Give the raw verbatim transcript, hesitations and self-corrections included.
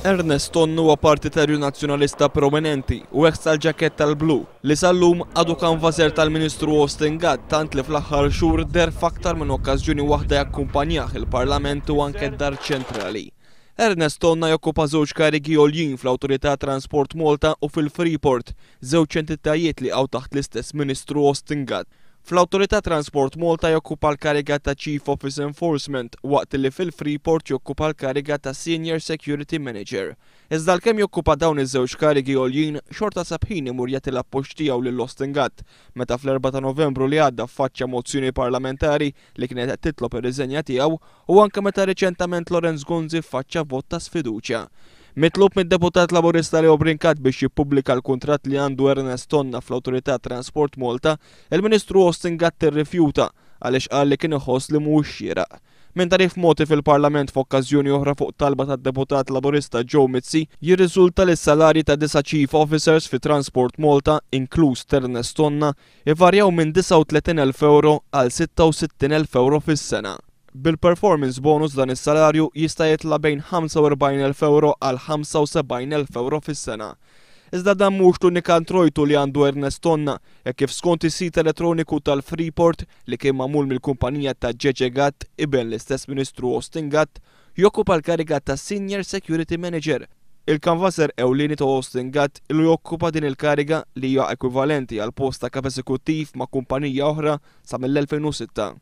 Ernest Tonna huwa partitarju Nazzjonalista prominenti u ex tal-ġaketta tal-blu li sal-lum għadu kanvaser tal-Ministru Austin Gatt, tant li fl-aħħar xhur deher f'aktar minn okkażjoni waħda jakkumpanjah il-Parlament u anke d-Dar Ċentrali. Ernest Tonna jokkupa żewġ karigi għoljin fl-Awtorità Transport Malta u fil-Freeport, żewġ entitajiet li jaqgħu taħt l-istess Ministru Austin Gatt. Fl-Awtorità Transport Malta jokkupa l-kariga ta' Chief Office Enforcement, waqt li fil-Freeport jokkupa l-kariga ta' Senior Security Manager. Iżda għalkemm jokkupa dawn iż-żewġ karigi għoljin, xorta sab ħin imur jagħti l-appoġġ tiegħu lil Austin Gatt meta fl-erbgħa ta' Novembru li għadda faċċa mozzjoni parlamentari li kienet qed titlob ir-riżenja tiegħu u anke meta riċentament Lawrence Gonzi faċċa vot ta' sfiduċja. Mitlub mid-deputat Laburista Leo Brincat biex jippubblika l-kuntratt li għandu Ernest Tonna fl-Awtorità Transport Malta, il-Ministru Austin Gatt irrifjuta għaliex qal li kien iħoss li mhuwiex xieraq. Minn tagħrif mogħti fil-Parlament f'okkażjoni oħra fuq talba tad-deputat Laburista Joe Mizzi, jirriżulta li s-salarji ta' disa' Chief Officers fi Transport Malta, inkluż Ernest Tonna, ivarjaw minn disgħa u tletin elf euro għal sitta u sittin elf euro fis-sena. Bil-performance bonus dan is-salarju jista' jitla' bejn ħamsa u erbgħin elf euro għal ħamsa u sebgħin elf euro fis-sena. Iżda dan mhux l-unika introjtu li għandu Ernest Tonna, hekk kif skont is-sit elettroniku tal-Freeport li kien magħmul mill-kumpanija ta' Ġeġe Gatt, iben l-istess Ministru Austin Gatt, jokkupa l-kariga ta' Senior Security Manager. Il-kanvaser ewlieni ta' Austin Gatt ilu jokkupa din il-kariga, li hija ekwivalenti għal post ta' kap eżekuttiv ma' kumpanija oħra, sa mill-elfejn u sitta.